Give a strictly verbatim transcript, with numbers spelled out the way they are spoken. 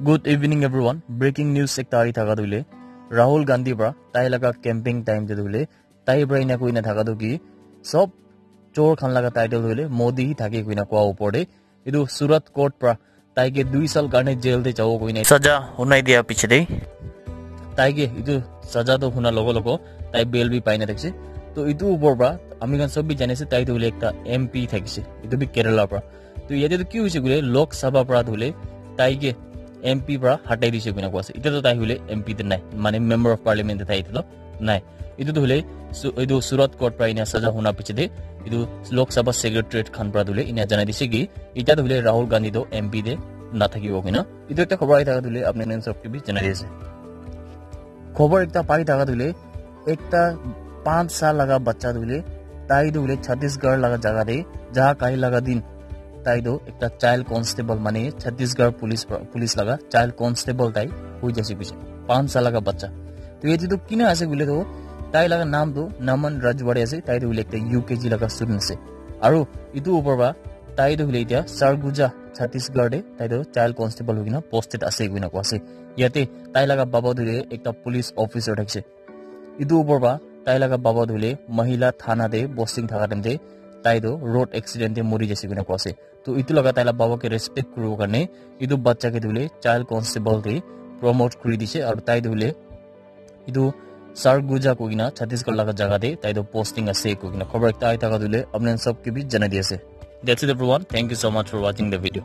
Good evening everyone. Breaking news ekta ahi thaka tu hoile Rahul Gandhi pra tai laga campaign time te tu hoile tai pra ena koina thaka tu ki sob chor khan laga title tu hoile Modi hi thake koina koa upor te etu Surat court pra tai ke dui sal karne jail te jabo koina saja hunai dia piche te tai ke etu saja tu huna logo logo tai bail bi paina thakise. To etu upor pra ami khan sob bi jani ase tai tu hoile ekta M P thakise, etu bi Kerala pra. To yate tu ki hoise koile Lok Sabha pra tu hoile tai ke M P pra hatai dise koina koa ase. Etia tu tai hoile M P te nai, mane member of parliament te tai etia tu nai. Etu tu hoile su- etu Surat court pra ena saja huna piche te etu Lok Sabha secretariat khan pra tu hoile ena janai dise ki etia tu hoile Rahul Gandhi tu M P te nathakibo koina. Etu ekta khobor ahi thaka tu hoile apni khan sob ke bi janai di ase. Khobor ekta pai thaka tu hoile ekta panch sal laga bacha tu hoile tai tu hoile Chhattisgarh laga jaga te ja kai laga din tai tu ekta child constable mane Chhattisgarh police pra- police laga child constable tai hoi jaise koise. Panch sal laga bacha. To yate tu kina ase koile tu tai laga naam tu Naman Rajwade ase, tai tu hoile ekta U K G laga student ase. Aru etu upor pra tai tu hoile etia Sarguja Chhattisgarh te tai tu child constable hoi kena posted ase koina koa ase. Yate tai laga baba tu hoile ekta police officer thakise. Etu upor pra tai laga baba tu hoile Mahila Thana te posting thaka time te tai tu road accident te mori jaise koina koa ase. To etu laga tai laga baba ke respect kuribo karne etu bacha ke tu hoile child constable te promote kuri dise aru tai tu hoile etu Sarguja koi kena Chhattisgarh laga jaga te tai tu posting ase koi kena khobor ekta ahi thaka tu hoile apni khan sob ke bi janai di ase. That's it everyone. Thank you so much for watching the video.